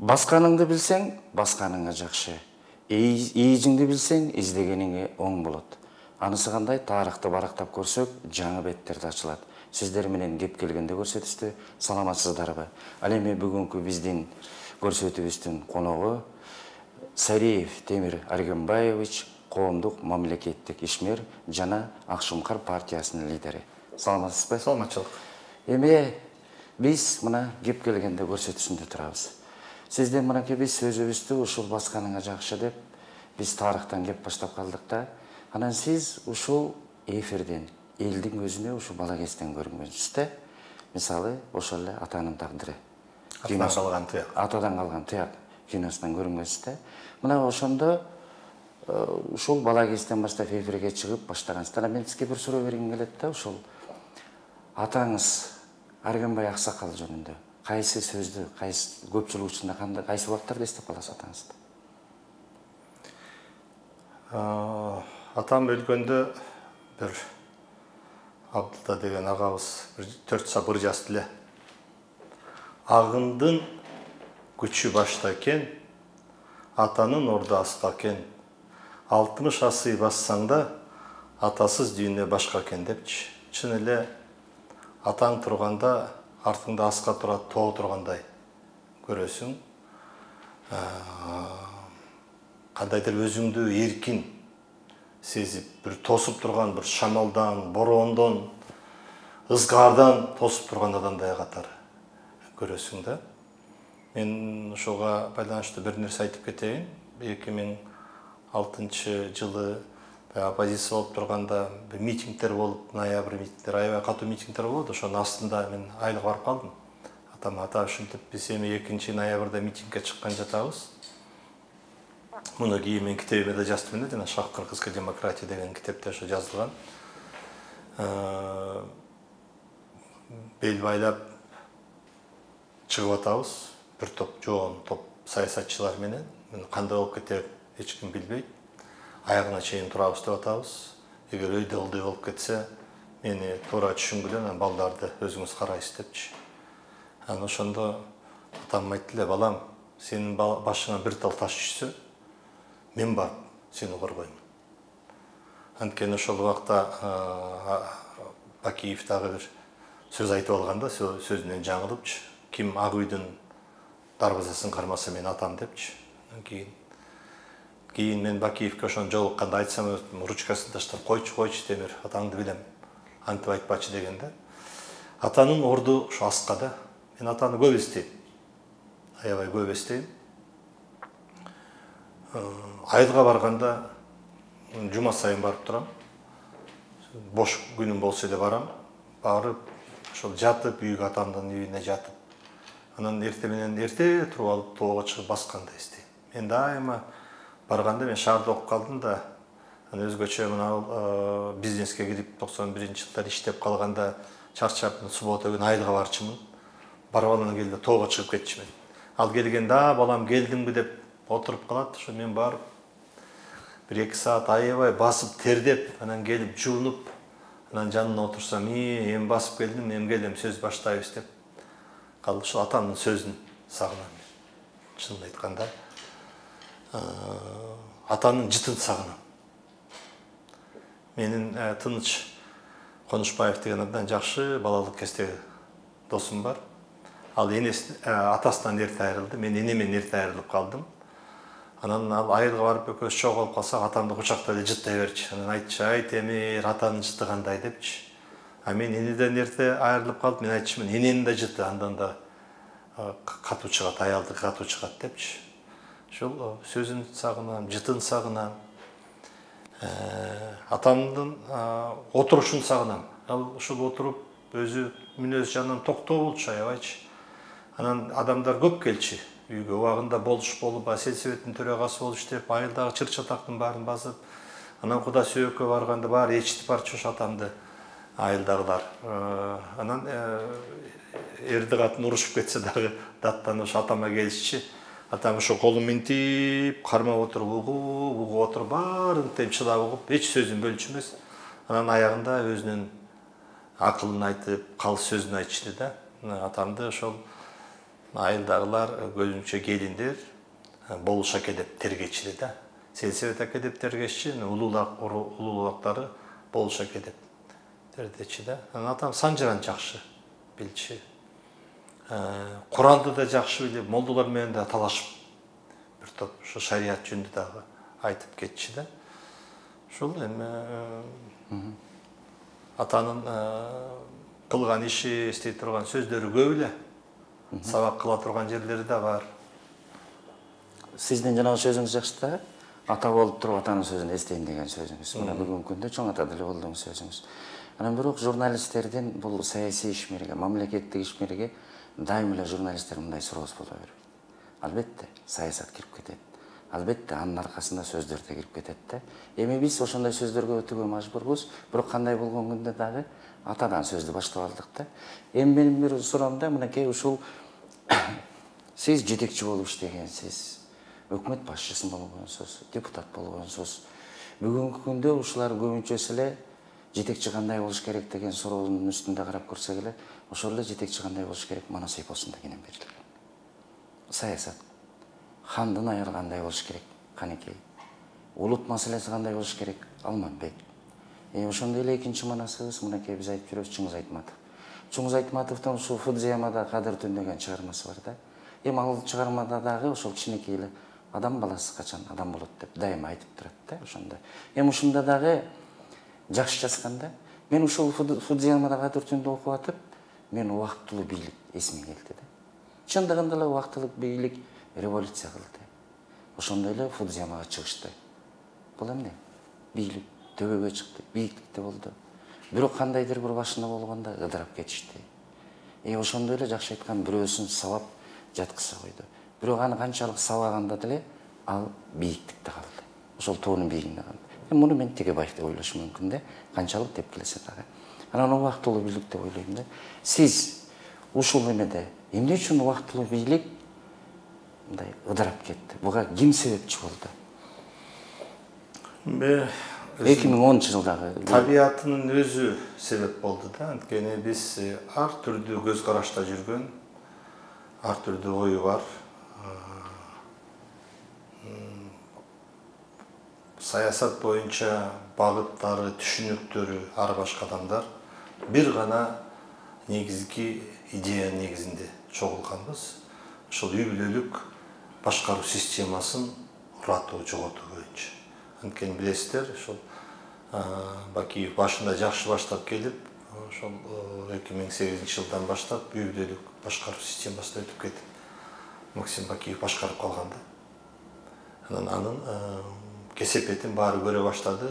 Басканыңды билсең, басканыңа жакшы. Ийижиңди билсең, издегениңе оң болот. Анысы кандай? Тарыхты барактап көрсөк, жаңы беттерди ачылат. Сиздер менен кеп келгенде көрсөтүштү. Саламатсыздарбы? Ал эми бүгүнкү биздин көрсөтүүбүздүн коногу Сариев Темир Аргенбаевич, коомдук мамлекеттик ишмер жана Ак Шумкар партиясынын лидери. Саламатсызбы? Саламатчылык. Эми биз мына кеп келгенде көрсөтүүсүндө турабыз. Сизден мынакей биз сөзүбүздү ушул басканыңа жакшы деп биз тарыхтан кеп баштап калдык да. Анан сиз ушул эфирден, элдин көзүнө ушул бала кезден көрүнгөнсүз да. Мисалы, ошол эле атанын тагдыры. Атадан калган тыяк киносунан көрүнгөнсүз да. Мына ошондо ушул бала кезден баштап эфирге чыгып баштагансыздар. Мен сизге бир суроо бергим келет да, ушул атаңыз Аргенбай Аксакал жөнүндө кайсы сөздү, кайсы көпчүлүк учурунда кандай, кайсы убактарда эстеп каласыз атаңызды? Атам өлгөндө бир Абдылда деген агабыз 4 сабыр жазды эле. Агындын күчү башта экен, атанын ордасы экен. 60 асый бассаң да, атасыз дүйнө башка экен депчи. Чын эле атаң турганда артыңда аска турат тоо тургандай көрөсүң. Кандайдыр өзүңдү эркин сезип, бир тосуп турган, бир шамалдан, бороондон, ызгаардан тосуп турган адамдай катары көрөсүң да. Мен ошого байланыштуу бир нерсе айтып кетейин. 2006 жылы оппозиция болуп турганда бир митингдер болуп, ноябрь митингдер, аябай катуу митингдер болот. Ошонун астында мен айылга барып калдым. Ата ушинтип биз эми 2 ноябрда митингге чыккан жатабыз. Муну кийин мен китебиме да жаздым эле, жана Шах кыргызская демократия деген китепте ошо жазылган. Бел байлап чыгып атабыз. Бир топ жоон топ саясатчылар менен. Кандай болуп кетер эч ким билбейт. Аягына чейин турабыз деп атабыз. Эгер өйдө ылдый болуп кетсе, мени туура түшүнгүлө, анан балдарды өзүңүз карайсыз депчи. Анан ошондо атам айтты эле, балам, сенин башыңан бир тал таш түшсө, мен барып сени коргоймун. Анткени ошол убакта Бакиев дагы бир сөз айтып алганда, сөзүнөн жаңылыпчы. Ким ак үйдүн дарбазасын кармаса мен атам депчи. Кийин мен Бакиевке ошону жолукканда айтсам, ручкасын таштап, койчу Темир, атаңды билем, антип айтпачы дегенде. Атанын орду ушу Аскада. Мен атаны көп эстейм. Аябай көп эстейм. Айылга барганда жума сайын барып турам. Бош күнүм болсо эле барам. Барып, ошол жатып, үйгө атамдын үйүнө жатып. Анан эрте туруп алып тоого чыгып басканды эстейм. Мен дайыма барганда мен шаарда окуп калдым да, өзгөчө мына бизнеске кирип 91-жылдар иштеп калганда чарчап суббота күнү айылга барчумун. Барып анан келди тоого чыгып кетчүмүн. Ал келгенде балам келдиңби деп отуруп калат. Ошо мен барып 1-2 саат аябай басып тердеп, анан келип жуунуп, анан жанына отурсам, эми басып келдим, эми келем сөз баштайбыз деп калды. Ошол атамдын сөзүн сагынам. Чынын айтканда, атанын жытын сагынам. Менин Тыныч Конушбаев деген абдан жакшы балалык кездеги досум бар. Ал атасынан эрте айрылды, мен энемен эрте айрылып калдым. Анан ал айылга барып экөөбүз чогулуп калсак, атамды кучактап эле жыттай берчи. Анан айтчы, ай Темир, атанын жыты кандай депчи. А мен энеден эрте айрылып калдым, мен айтчымын, эненин да жыты андан да катуу чыгат, аялдык катуу чыгат депчи. Ошол сөзүн сагынам, жытын сагынам. Атамдын отурушун сагынам. Ал ушул отуруп өзү мүнөз жанынан токтоо болчу, аябайчы. Анан адамдар көп келчи үйгө, убагында болуш болуп, сельсоветтин төрагасы болуп иштеп, айылдагы чыр-чатактын баарын басып, анан Куда сөөккө барганда баары ээрчитип барчу ошо атамды айылдагылар. Анан эрди катын урушуп кетсе дагы даттан ошо атама келишчи. Атам ошо колун минтип, кармап отуруп, угуп отуруп, баарын темчилап угуп, эч сөзүн бөлчү эмес. Анан аягында өзүнүн акылын айтып, калыс сөзүн айтышты да. Атамды ошол айылдагылар көбүнчө келиндер болуш аке деп тергечиле да. Сельсовет аке деп тергешчи, улуулактары болуш аке деп тергечи да. Атам Санжыран жакшы билчү. Куранды да жакшы билип, молдолор менен да талашып бир топ ушу шарият жөнүндө дагы айтып кетчи да. Ушул эми атанын кылган иши, эстей турган сөздөрү көп эле. Сабак кыла турган жерлери да бар. Сиздин жанагы сөзүңүз жакшы да. Ата болуп туруп атанын сөзүн эстейин деген сөзүңүз. Мына бүгүнкү күндө чоң ата деле болгон сөзүңүз. Анан бирок журналисттердин бул саясий ишмерге, мамлекеттик ишмерге дайым эле журналисттер мындай суроосу боло берет. Албетте, саясат кирип кетет. Албетте, анын аркасында сөздөр да кирип кетет да. Эми биз ошондой сөздөргө өтүүгө мажбурбуз, бирок кандай болгон күндө дагы атадан сөздү баштап алдык да. Эми менин бир суроом да, мынакей ушул сиз жетекчи болуп иштегенсиз, өкмөт башчысы болгонсуз, депутат болгонсуз. Бүгүнкү күндө ушулар көбүнчөсү эле жетекчи кандай болуш керек деген суроонун үстүндө карап көрсөк эле, ошол эле жетекчи кандай болуш керек Манас эпосунда кенен берилген. Саясат. Хандын аяры кандай болуш керек? Канекей. Улут маселеси кандай болуш керек? Алматбек. Ошондой эле экинчи манасыбыз мынакей биз айтып жүрөбүз Чыңгыз Айтматов. Чыңгыз Айтматовдун ушул Фудзиямада кадыр түн деген чыгармасы бар да. Эми ал чыгармада дагы ошол кичинекей эле адам баласы качан адам болот деп дайыма айтып турат да ошондо. Эми ушунда дагы жакшы жазган да. Мен ушул Фудзиямада кадыр түндү окуп атып, мен убактылуу бийлик эсиме келди да. Чындыгында эле убактылуу бийлик революция кылды. Ошондой эле Фудзиямага чыгышты. Бул эмне? Бийлик төбөгө чыкты, бийиктикте болду. Бирок кандайдыр бир башында болгондо ыдырап кетишти. Ошондой эле жакшы айткан бирөөсүн сабап жаткыза койду. Бирок аны канчалык сабаганда деле ал бийиктикте калды. Ошол тоонун бийигинде калды. Муну мен Тегебаев деп ойлошум мүмкүн да, канчалык деп келсе дагы. Анан убактылуу бийлик деп ойлойм да. Сиз ушул эмеде эмне үчүн убактылуу бийлик мындай ыдырап кетти? Буга ким себепчи болду? 2010-жылдагы табиятынын өзү себеп болду да. Анткени биз ар түрдүү көз карашта жүргөн, ар түрдүү ою бар. Саясат боюнча багыттары, түшүнүктөрү ар башка адамдар бир гана негизги идея негизинде чогулганбыз. Ошол үй бүлөлүк башкаруу системасын уратуу, жоготуу боюнча. Анткени билесиздер, ошол Бакиев башында жакшы баштап келип, ошол 2008-жылдан баштап үй бүлөлүк башкаруу системасына өтүп кетип, Максим Бакиев башкарып калган да. Анын кесепетин баары көрө баштады.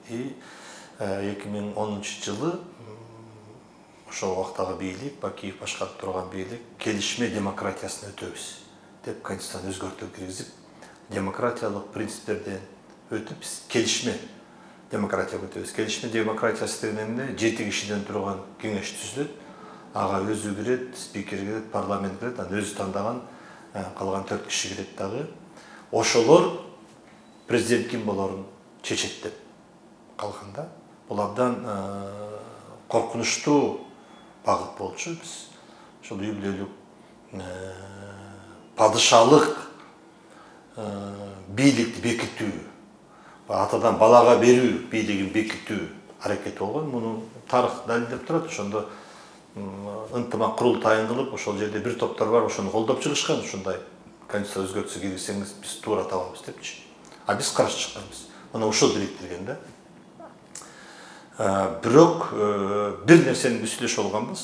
2010-жылы ошол убактагы бийлик, Бакиев башкарып турган бийлик келишме демократиясына өтөбүз деп конституцияны өзгөртүү киргизип, демократиялык принциптерден өтүп биз келишме демократияга өтөбүз. Келишме демократиясы деген эмне? 7 кишиден турган кеңеш түзүлөт. Ага өзү кирет, спикер кирет, парламент кирет, анан өзү тандаган калган 4 киши кирет дагы. Ошолор президент ким болорун чечет деп калган да. Бул абдан коркунучтуу багыт болчу. Биз ошол үй бүлөлүк падышалык бийликти бекитүү, атадан балага берүү бийлигин бекитүү аракети болгон. Муну тарых далилдеп турат. Ошондо ынтымак курултайын кылып, ошол жерде бир топтор бар, ошону колдоп чыгышкан. Ушундай конституция өзгөртүүсү киргизсеңиз биз туура табабыз депчи. А биз каршы чыкканбыз. Мына ушул бириктирген да. Бирок бир нерсени биз сүйлөшүп алганбыз.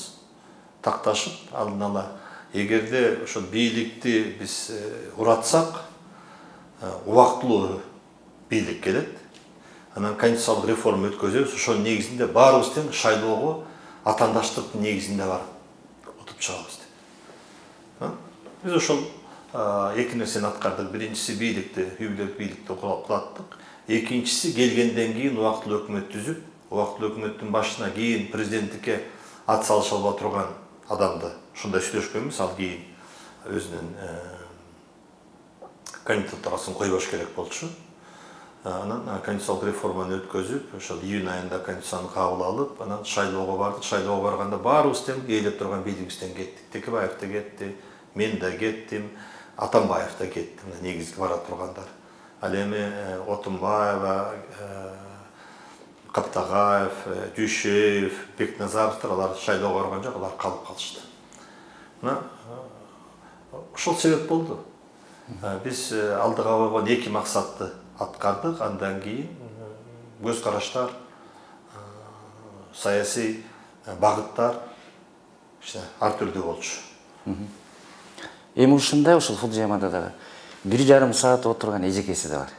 Такташып, алдын ала эгерде ошол бийликти биз уратсак, убактылуу бийлик келет. Анан конституциялык реформа өткөзөбүз. Ошол негизинде баарыбыз тең шайлоого атаандаштыктын негизинде барып отуруп чыгабыз деп. Биз ошол эки нерсени аткардык. Биринчиси бийликти, үй бүлөлүк бийликти кулаттык. Экинчиси келгенден кийин убактылуу өкмөт түзүп, убактылуу өкмөттүн башына кийин президенттикке ат салыша албай турган адамды ушундай сүйлөшкөнбүз. Ал кийин өзүнүн кандидатурасын койбош керек болчу. Анан конституциялык реформаны өткөзүп, ошол июнь айында конституцияны кабыл алып, анан шайлоого бардык. Шайлоого барганда баарыбыз тең ээлеп турган бийлигибизден кеттик. Текебаев да кетти, мен да кеттим, Атамбаев да кетти, негизги бара тургандар. Ал эми Отунбаева, Каптагаев, Дүйшеев, Бекназаровдор алар шайлоого барган жок, алар калып калышты. Ушул себеп болду. Биз алдыга койгон эки максатты аткардык, андан кийин көз караштар, саясий багыттар ар түрдүү болчу. Эми ушундай ушул Фудзиямада дагы 1,5 саат отурган эжекеси да бар.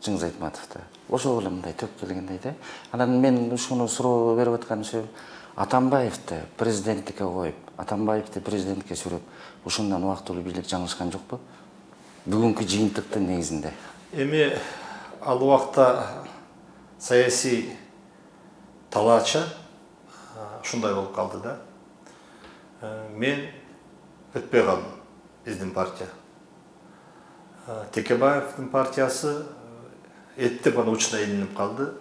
Чыңгыз Айтматов да. Ошол эле мындай төп келгендей да. Анан мен ушуну суроо берип аткан себеп Атамбаевди президенттикке коюп, Атамбаевди президентке сүрөп, ушундан убактылуу бийлик жаңылышкан жокпу? Бүгүнкү жыйынтыктын негизинде. Эми ал убакта саясий талаача ушундай болуп калды да. Мен өтпөй калдым, биздин партия. Текебаевдин партиясы эттеп ана учуна илинип калды.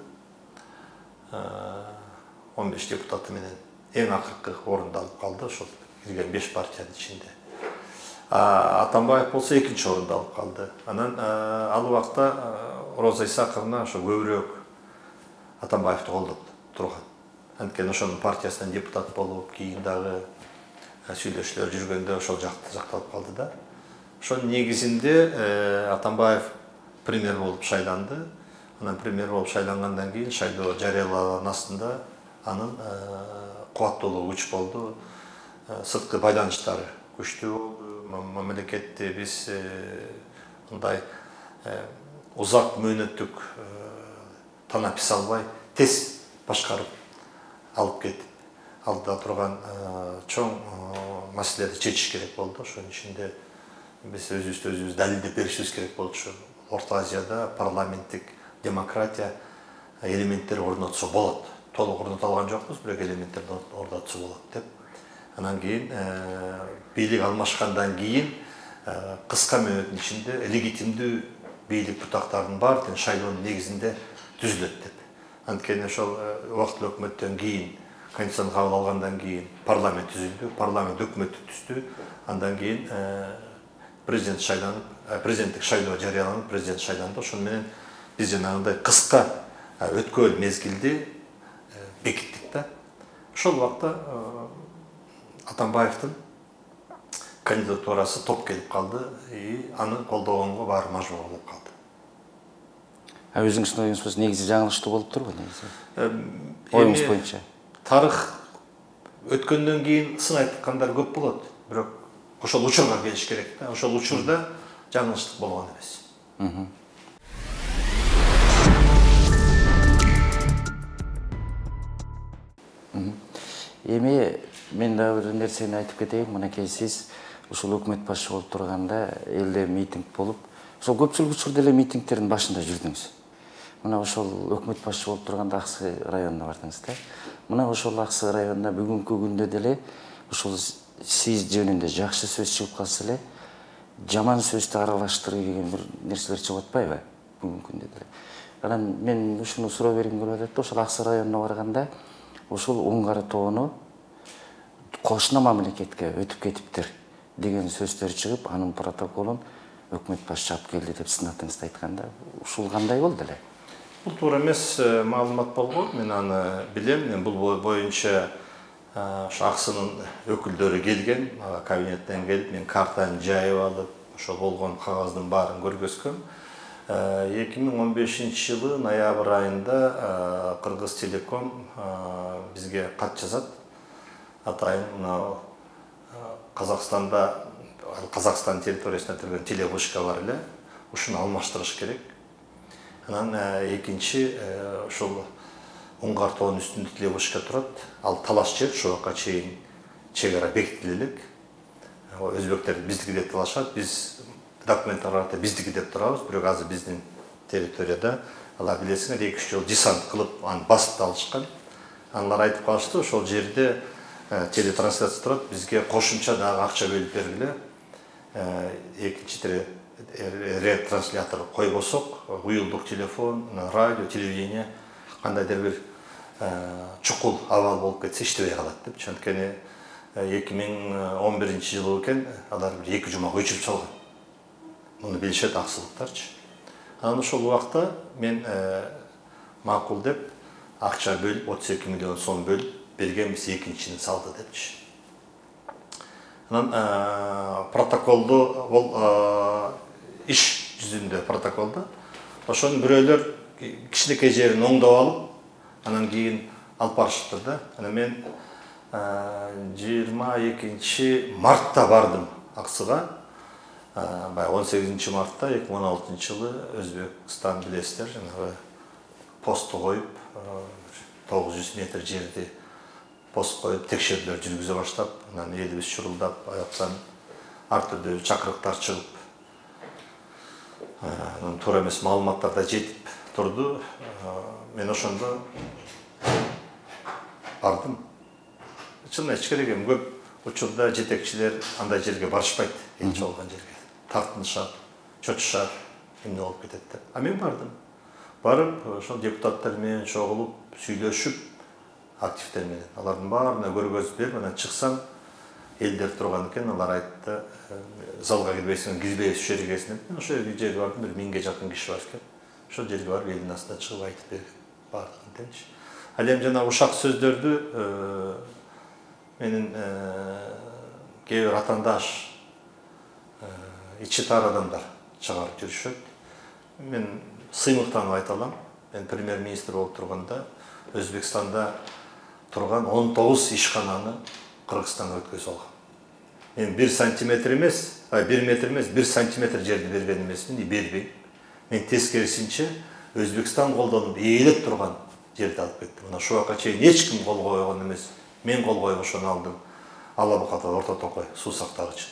15 депутаты менен эң акыркы орунду алып калды, ошол кирген 5 партиянын ичинде. Атамбаев болсо экинчи орунду алып калды. Анан ал убакта Роза Исаковна ошо көбүрөөк Атамбаевди колдоп турган. Анткени ошонун партиясынан депутат болуп, кийин дагы сүйлөшүүлөр жүргөндө ошол жакталып калды да. Ошонун негизинде Атамбаев премьер болуп шайланды. Анан премьер болуп шайлангандан кийин шайлоо жарыяланган астында анын кубаттуулугу күч болду. Сырткы байланыштары күчтүү болду. Мамлекетти биз мындай узак мөөнөттүк танапис албай тез башкарып алып кетип, алдыда турган чоң маселелерди чечиш керек болду. Ошонун ичинде биз өзүбүздү далилдеп беришибиз керек болчу. Орто Азияда парламенттик демократия элементтери орнотсо болот. Толук орното алган жокпуз, бирок элементтерди орнотсо болот деп. Анан кийин бийлик алмашкандан кийин кыска мөөнөттүн ичинде легитимдүү бийлик бутактарынын баары шайлоонун негизинде түзүлөт деп. Анткени ошол убактылуу өкмөттөн кийин, конституцияны кабыл алгандан кийин парламент түзүлдү, парламент өкмөттү түздү. Андан кийин президент шайланып, президенттик шайлоо жарыяланып, президент шайланды. Ошону менен биз жанагындай кыска өткөл мезгилди бекиттик да. Ошол убакта Атамбаевдин кандидатурасы топ келип калды, аны колдогонго баары мажбур болуп калды. Өзүңүздүн оюңуз негизи жаңылыштуу болуп турбу негизи? Оюңуз боюнча. Тарых өткөндөн кийин сын айткандар көп болот, бирок ошол учурга келиш керек да. Ошол учурда жаңылыштык болгон эмес. Эми мен дагы бир нерсени айтып кетейин. Мынакей сиз ушул өкмөт башчы болуп турганда элде митинг болуп, ошол көпчүлүк учурда эле митингтердин башында жүрдүңүз. Мына ошол өкмөт башчы болуп турганда Аксы районуна бардыңыз да. Мына ошол Аксы районуна бүгүнкү күндө деле ушул сиз жөнүндө жакшы сөз чыгып калса эле, жаман сөздү аралаштырып деген бир нерселер чыгып атпайбы бүгүнкү күндө деле. Анан мен ушуну суроо бергим келип атат да, ошол Аксы районуна барганда ушул Уңгары тоону кошуна мамлекетке өтүп кетиптир деген сөздөр чыгып, анын протоколун өкмөт башчы алып келди деп сынатыңызды айтканда, ушул кандай болду эле? Бул туура эмес маалымат болгон. Мен аны билем. Мен бул боюнча ошо Аксынын өкүлдөрү келген, кабинеттен келип, мен картаны жайып алып, ошол болгон кагаздын баарын көргөзгөм. 2015-жылы ноябрь айында Кыргыз Телеком бизге кат жазат. Атайын мына Казакстанда, Казакстан территориясына түргөн телевышка бар эле, ушуну алмаштырыш керек. Анан экинчи ошол Уңгар тоонун үстүндө телевышка турат. Ал талаш жер, ошол жака чейин чек ара бекитиле элек. Өзбектер биздики деп талашат, биз документтарда биздики деп турабыз, бирок азыр биздин территорияда алар билесиңер 2-3 жыл десант кылып аны басып алышкан. Алар айтып калышты, ошол жерде телетрансляция турат, бизге кошумча дагы акча бөлүп бергиле. Экинчи ретранслятор койбосок, уюлдук телефон, радио, телевидение кандайдыр бир чукул абал болуп кетсе иштебей калат деп. Анткени 2011-жылы экен, алар 2 жумага өчүрүп салган. Муну билишет аксылыктарчы. Анан ошол убакта мен макул деп акча бөлүп 32 миллион сом бөлүп бергенбиз, экинчини салды депчи. Анан протоколду бул иш жүзүндө протоколдо ошонун бирөөлөр кичинекей жерин оңдоп алып, анан кийин алып барышыптыр да. Анан мен 22 мартта бардым Аксыга. 18 мартта 2016-жылы Өзбекстан билесиздер, жанагы посту коюп, 900 метр жерди пост коюп, текшерүүлөр жүргүзө баштап, анан элибиз чурулдап, аяктан ар түрдүү чакырыктар чыгып, анан туура эмес маалыматтар да жетип турду. Мен ошондо бардым. Чын айтыш керек, көп учурда жетекчилер андай жерге барышпайт, элчи болгон жерге. Тартынышат, чочушат, эмне болуп кетет деп. А мен бардым. Барып, ошол депутаттар менен чогулуп, сүйлөшүп, активдер менен. Алардын баарына көргөзүп берип, анан чыксам, элдер турган экен, алар айтты, залга кирбейсиң, кирбейбиз ошол жерге деп. Мен ошол жерге бардым, 1000 жакын киши бар экен. Ошол жерге барып, элдин астына чыгып айтып берген баардыгын депчи. Ал эми жана ушак сөздөрдү менин кээ бир атандаш, ичи тар адамдар чыгарып жүрүшөт. Мен сыймыктанып айта алам. Мен премьер-министр болуп турганда Өзбекстанда турган 19 ишкананы Кыргызстанга өткөзүп алгам. Мен 1 сантиметр эмес, 1 метр эмес, 1 сантиметр жерди берген эмесмин, бербейм. Мен тескерисинче Өзбекстан колдонуп ээлеп турган жерди алып кеттим. Мына ушул убакка чейин эч ким кол койгон эмес. Мен кол коюп ошону алдым. Ала Буката Орто Токой суу сактагычы.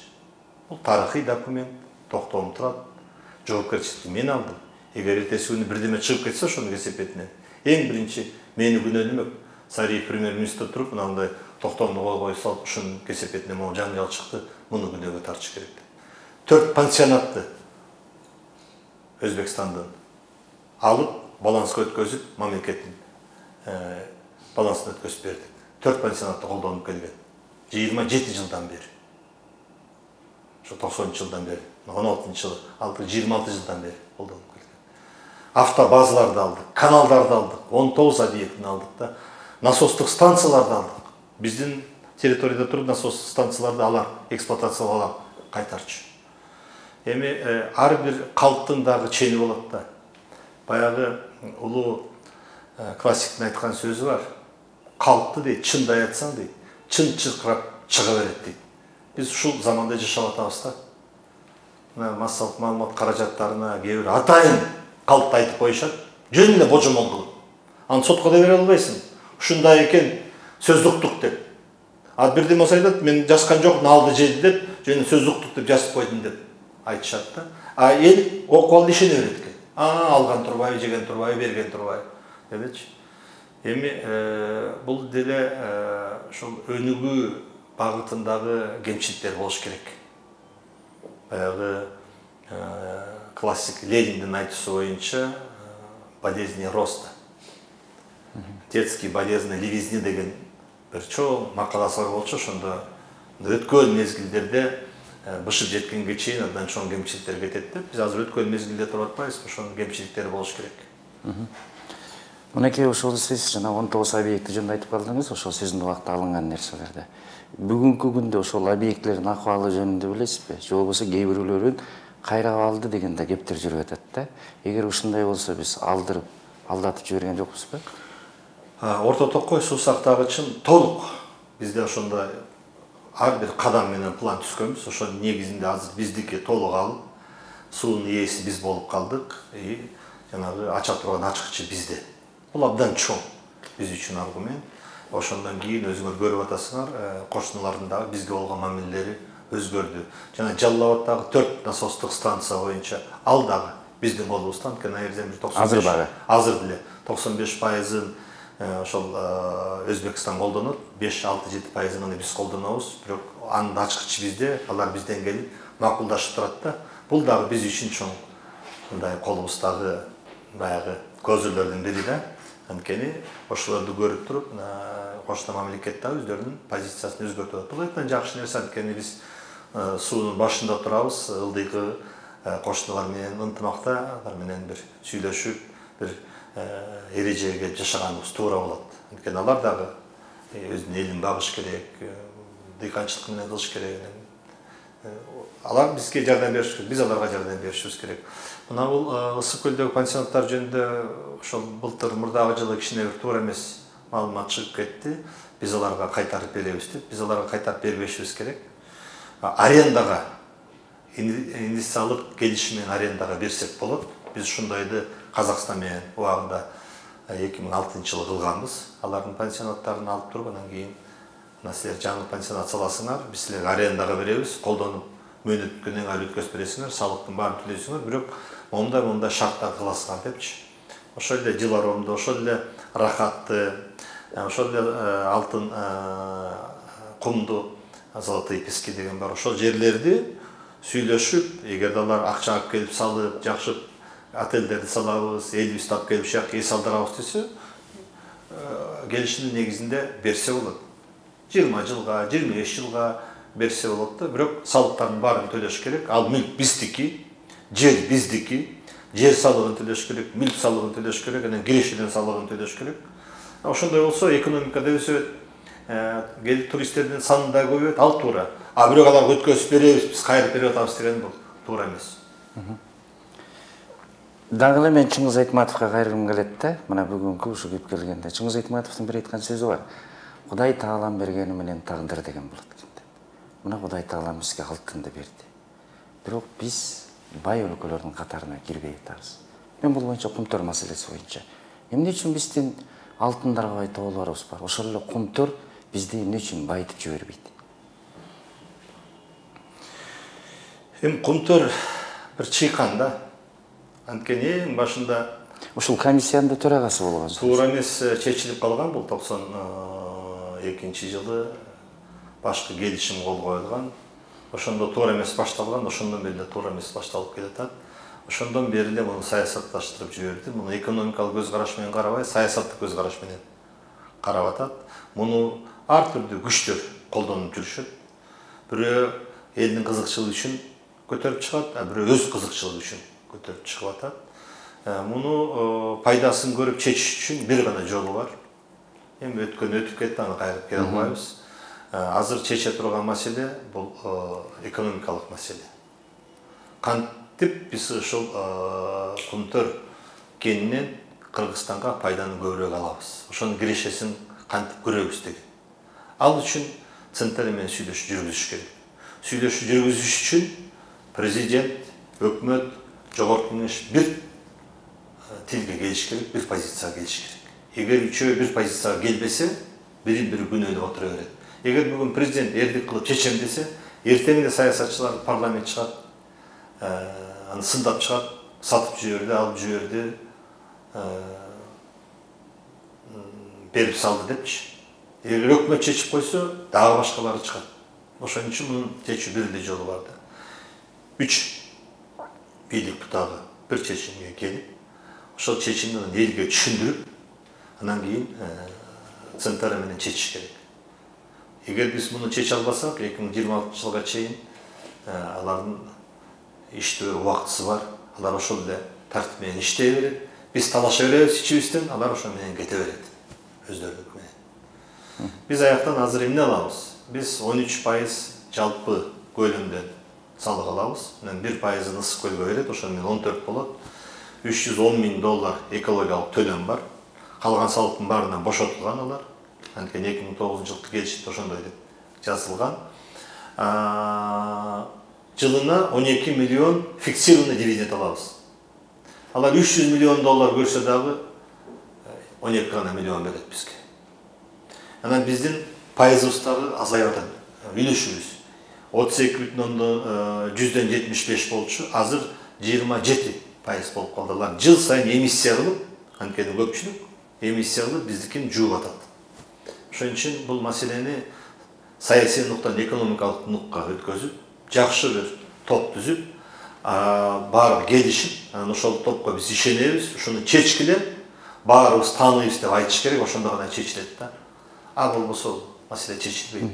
Бул тарыхый документ, токтолуп турат. Жоопкерчиликти мен алдым. Эгер эртеси күнү бирдеме чыгып кетсе ошонун кесепетинен, эң биринчи мени күнөөлөмөк. Сариев премьер-министр туруп, мындай токтомду кой салып, ушунун кесепетинен могу жаңжал чыкты, муну күнөөгө тартыш керек. 4 пансионатты Өзбекстандын алып, балансқа өткөзүп, мамлекеттин балансына өткөзүп бердик. 4 пансионатты колдонуп келген. 27 жылдан бери. Ошо 90-жылдан бери, 16-жылы алдык, 26 жылдан бери колдонуп келген. Автобазаларды алдык, каналдарды алдык, 19 объектini алдык да, насостук станцияларды алдык. Биздин территорияда туруп насостук станцияларды алар эксплуатациялап алам, кайтарчы. Эми ар бир калктын дагы чени болот да. Баягы улуу классиктин айткан сөзү бар. Калкты дейт, чындай айтсаң дейт, чын чыркырап чыга берет дейт. Биз ушул заманда жашап атабыз да. Мына массалык маалымат каражаттарына кээ бир атайын калкты айтып коюшат, жөн эле божомол кылып. Аны сотко да бере албайсың. Ушундай экен, сөз уктук деп. А бирдеме болсо айтат, мен жазган жокмун, алды жеди деп, жөн сөз уктук деп жазып койдум деп айтышат да. А эл окуп алып ишене берет экен. Алган турбайбы, жеген турбайбы, берген турбайбы депчи. Эми бул деле ушул өнүгүү багытындагы кемчиликтер болуш керек. Баягы классик Лениндин айтуусу боюнча болезни роста. Детские болезни левизни деген бир чоң макаласы бар болчу, ошондо өткөн мезгилдерде бышып жеткенге чейин андан чоң кемчиликтер кетет деп. Биз азыр өткөн мезгилде туруп атпайбызбы, ошонун кемчиликтери болуш керек. Мынакей ошол сиз жана 19 объекти жөнүндө айтып калдыңыз, ошол сиздин убакта алынган нерселерди. Бүгүнкү күндө ошол объектилердин акыбалы жөнүндө билесизби? Же болбосо кээ бирөөлөрүн кайра алды дегенде кептер жүрүп атат да. Эгер ушундай болсо биз алдырып, алдатып жиберген жокпузбу? Орто Токой суу сактагычын толук бизде ошондой ар бир кадам менен план түзгөнбүз. Ошонун негизинде азыр биздики толук алып, суунун ээси биз болуп калдык. Жанагы ача турган ачкычы бизде. Бул абдан чоң биз үчүн аргумент. Ошондон кийин өзүңөр көрүп атасыңар, кошуналардын дагы бизге болгон мамилелери өзгөрдү. Жана Жалал Абаддагы 4 насостук станция боюнча ал дагы биздин колубузда, анткени аерден 95 азыр деле 95%-ын ошол Өзбекстан колдонот, 5-6-7%-ын биз колдонобуз. Бирок анын ачкычы бизде, алар бизден келип макулдашып турат да. Бул дагы биз үчүн чоң мындай колубуздагы баягы көзүрлөрдүн бири да. Анткени ошолорду көрүп туруп, кошто мамлекет да өздөрүнүн позициясын өзгөртүп атат. Бул эптен жакшы нерсе, анткени биз суунун башында турабыз, ылдыйкы коштолор менен ынтымакта, алар менен бир сүйлөшүп, бир эрежеге жашаганыбыз туура болот. Анткени алар дагы өзүнүн элин багыш керек, дыйканчылык менен кылыш керек. Алар бизге жардам бериш керек, биз аларга жардам беришибиз керек. Мына бул Ысык көлдөгү пансионаттар жөнүндө ошол былтыр мурдагы жылы кичине бир туура эмес маалымат чыгып кетти. Биз аларга кайтарып беребиз деп. Биз аларга кайтарып бербешибиз керек. Арендага, инвестициялык келишим менен арендага берсек болот. Биз ушундайды Казакстан менен убагында 2006-жылы кылганбыз. Алардын пансионаттарын алып туруп, анан кийин мына силер жаңы пансионат саласыңар, биз силерге арендага беребиз, колдонуп мөөнөткөнөн кийин өткөзүп бересиңер, салыктын баарын төлөйсүңөр, бирок мондай шарттар кыласыңар депчи. Ошол эле жыл оромдо, ошол эле рахатты, ошол эле алтын кумду, золотые пески деген бар. Ошол жерлерди сүйлөшүп, эгерде алар акча алып келип салып, жакшы отелдерди салабыз, элибизди алып келип ушак эс алдырабыз десе, келишимдин негизинде берсе болот. 20 жылга, 25 жылга берсе болот да, бирок салыктардын баарын төлөш керек. Ал мүлк биздики, жер биздики, жер салыгын төлөш керек, мүлк салыгын төлөш керек, анан кирешеден салыгын төлөш керек. Ошондой болсо экономикада өсөт, келип туристтердин саны да көбөйөт, ал туура. Бирок аларга өткөзүп беребиз, биз кайрып берип атабыз деген бул туура эмес. Дагы эле мен Чыңгыз Айтматовго кайрылгым келет да, мына бүгүнкү ушу кеп келгенде. Чыңгыз Айтматовдун бир айткан сөзү бар. Кудай таалам бергени менен тагдыр деген болот экен. Мына Кудай таалам бизге алтынды берди. Бирок биз бай өлкөлөрдүн катарына кирбей атабыз. Мен бул боюнча кумтөр маселеси боюнча. Эмне үчүн биздин алтындарга бай тоолорубуз бар? Ошол эле кумтөр бизди эмне үчүн байытып жибербейт? Кумтөр бир чыйкан да. Анткени эң башында ушул комиссиянын төрагасы болгон. Туура эмес чечилип калган, бул 92-жылы башкы келишим кол коюлган. Ошондо туура эмес башталган, ошондон бери туура эмес башталып келатат. Ошондон бери эле муну саясатташтырып жиберди. Муну экономикалык көз караш менен карабай, саясаттык көз караш менен карап атат. Муну ар түрдүү күчтөр колдонуп жүрүшөт. Бирөө элдин кызыкчылыгы үчүн көтөрүп чыгат, бирөө өз кызыкчылыгы үчүн көтөрүп чыгып атат. Муну пайдасын көрүп чечиш үчүн бир гана жолу бар. Эми өтүп кетти, аны кайрып келе албайбыз. Азыр чече турган маселе бул экономикалык маселе. Кантип биз ушул кумтөр кенинен Кыргызстанга пайданы көбүрөөк алабыз. Ошонун кирешесин кантип көрөбүз деген. Ал үчүн централь менен сүйлөшүү жүргүзүш керек. Сүйлөшүү жүргүзүш үчүн президент, өкмөт, жогорку кеңеш бир тилге келиш керек, бир позицияга келиш керек. Эгер үчөө бир позицияга келбесе, бири-бири күнөөлөп отура берет. Эгер бүгүн президент эрдик кылып чечем десе, эртең эле саясатчылар парламент чыгат, аны сындап чыгат, сатып жиберди, алып жиберди, берип салды депчи. Эгер өкмөт чечип койсо, дагы башкалары чыгат. Ошон үчүн мунун чечүү бир эле жолу бар да. 3 бийлик бутагы бир чечимге келип, ошол чечимди элге түшүндүрүп, анан кийин централь менен чечиш керек. Эгер биз муну чече албасак, 2026-жылга чейин алардын иштөө убактысы бар. Алар ошол эле тартип менен иштей берет. Биз талаша беребиз ичибизден, алар ошо менен кете берет. Өздөрүнүкү менен. Биз аяктан азыр эмне алабыз? Биз 13% жалпы көлөмдөн салык алабыз. Анан 1%-ын Ысык көлгө берет, ошону менен 14 болот. $310 000 экологиялык төлөм бар. Калган салыктын баарынан бошотулган алар. Анткени 2009-жылкы келишимде ошондой деп жазылган. Жылына 12 миллион фиксированный дивиденд алабыз. Алар $300 миллион көрсө дагы 12 миллион берет бизге. Анан биздин пайызыбыз дагы азайып атат. Үлүшүбүз 32,75 болчу, азыр 27% болуп калды. Алар жыл сайын эмиссия кылып, анткени көпчүлүк эмиссия кылып биздикин жууп атат. Ошон үчүн бул маселени саясий нуктан экономикалык нукка өткөзүп, жакшы бир топ түзүп, баары келишип, анан ошол топко биз ишенебиз, ушуну чечкиле, баарыбыз тааныйбыз деп айтыш керек, ошондо гана чечилет да. А болбосо маселе чечилбейт.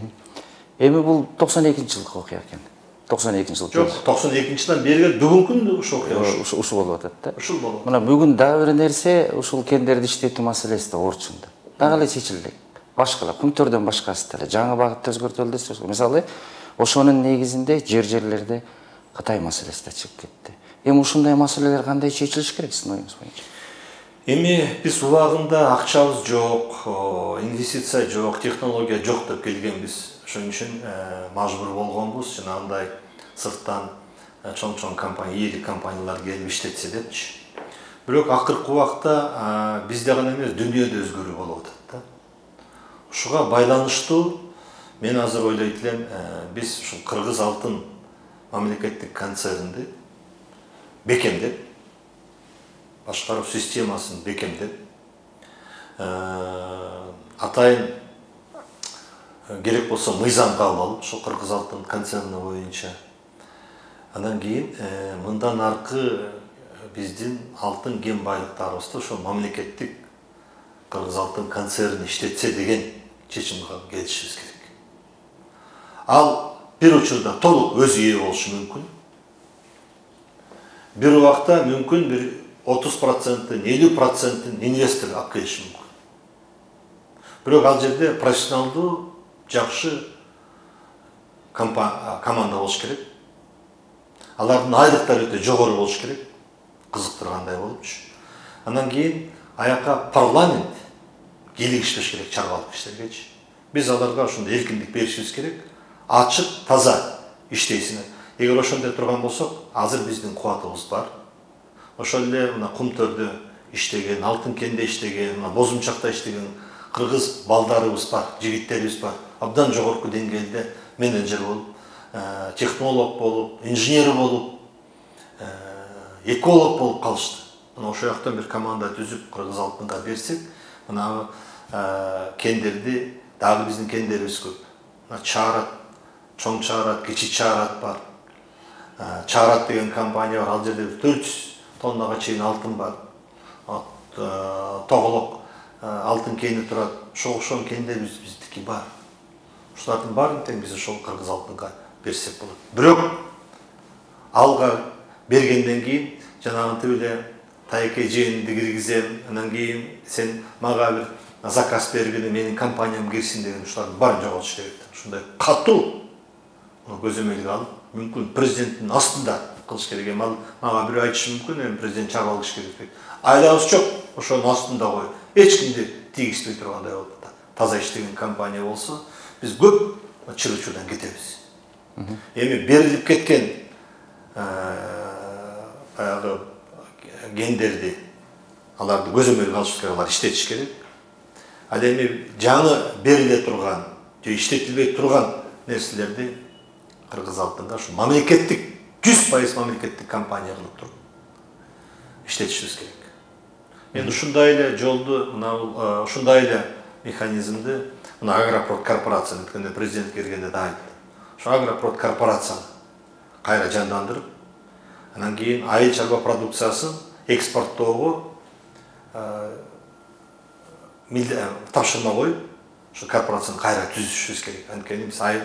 Эми бул 92-жылкы окуя экен. 92-жыл. Жок, 92-жылдан бери бүгүнкү ушул окуя ушул болуп атат да. ушул болот. Мына бүгүн дагы бир нерсе, ушул кендерди иштетүү маселеси да орчунда. Дагы эле чечилди. Башкалап, күнтөрдөн башкасы деле жаңы багытта өзгөртүлдү десек, мисалы, ошонун негизинде жерлерде Кытай маселеси да чыгып кетти. Эми ушундай маселелер кандай чечилиш керек сиздин оюңуз боюнча? Эми биз убагында акчабыз жок, инвестиция жок, технология жок деп келгенбиз. Ошон үчүн мажбур болгонбуз, жанагындай сырттан чоң компания, ийгилик компаниялар келип иштетсе депчи. Бирок акыркы убакта бизде гана эмес, дүйнөдө өзгөрүү болуп атат да. Ушуга байланыштуу мен азыр ойлойт элем, биз ушул Кыргыз Алтын мамлекеттик концернди бекемдеп, башкаруу системасын бекемдеп, атайын керек болсо мыйзам кабыл алып, ошол Кыргыз Алтын концерни боюнча. Андан кийин мындан аркы биздин алтын кен байлыктарыбызды ошол мамлекеттик Кыргыз Алтын концерни иштетсе деген чечимге келишибиз керек. Ал бир учурда толук өзү ээ болушу мүмкүн. Бир убакта мүмкүн бир 30%, 50% инвестор алып келиши мүмкүн. Бирок ал жерде профессионалдуу, жакшы команда болуш керек. Алардын айлыктары өтө жогору болуш керек. Кызыктыргандай болупчу. Андан кийин аяка парламент келишпеш керек чарбалык иштергечи. Биз аларга ошондой эркиндик беришибиз керек. Ачык, таза иштейсиңер. Эгер ошондой турган болсок, азыр биздин кубатыбыз бар. Ошол эле мына Кумтөрдө иштеген, Алтын кенде иштеген, Бозумчакта иштеген кыргыз балдарыбыз бар, жигиттерибиз бар. Абдан жогорку деңгээлде менеджер болуп, технолог болуп, инженер болуп, эколог болуп калышты. Мына ошол жактан бир команда түзүп Кыргыз Алтынга берсек, мына кендерди дагы биздин кендерибиз көп. Мына Чаарат, Чоң Чаарат, Кичи Чаарат бар. Чаарат деген компания бар, ал жерде 400 тоннага чейин алтын бар. Тоголок алтын кени турат. Ошол кендерибиз биздики бар. Ушулардын баарын тең биз ошол Кыргыз Алтынга берсек болот. Бирок алга бергенден кийин жанагынтип эле тайке жээнди киргизем, андан кийин сен мага бир заказ бергине менин компаниям кирсин деген ушулардын баарын жоготуш керек. Ушундай катуу көзөмөлгө алып, мүмкүн президенттин астында кылыш керек. Мага бирөө айтышы мүмкүн, эми президент чарбалык иш керек. Айлабыз жок, ошонун астында коюп, эч кимди тийгизбей тургандай болуп таза иштеген компания болсо, биз көп чыр-чырдан кетебиз. Эми берилип кеткен баягы кендерди аларды көзөмөлгө алыш керек, алар иштетиш керек. Ал эми жаңы бериле турган же иштетилбей турган нерселерди Кыргыз Алтынга ушу мамлекеттик 100% мамлекеттик компания кылып туруп иштетишибиз керек. Мен ушундай эле жолду, мына ушундай эле механизмди мына Агропрод корпорацияны өткөндө президент келгенде да айтты. Ошо Агропрод корпорацияны кайра жандандырып, андан кийин айыл чарба продукциясын экспорттоого тапшырма коюп, ошо корпорацияны кайра түзүшүбүз керек. Анткени биз айыл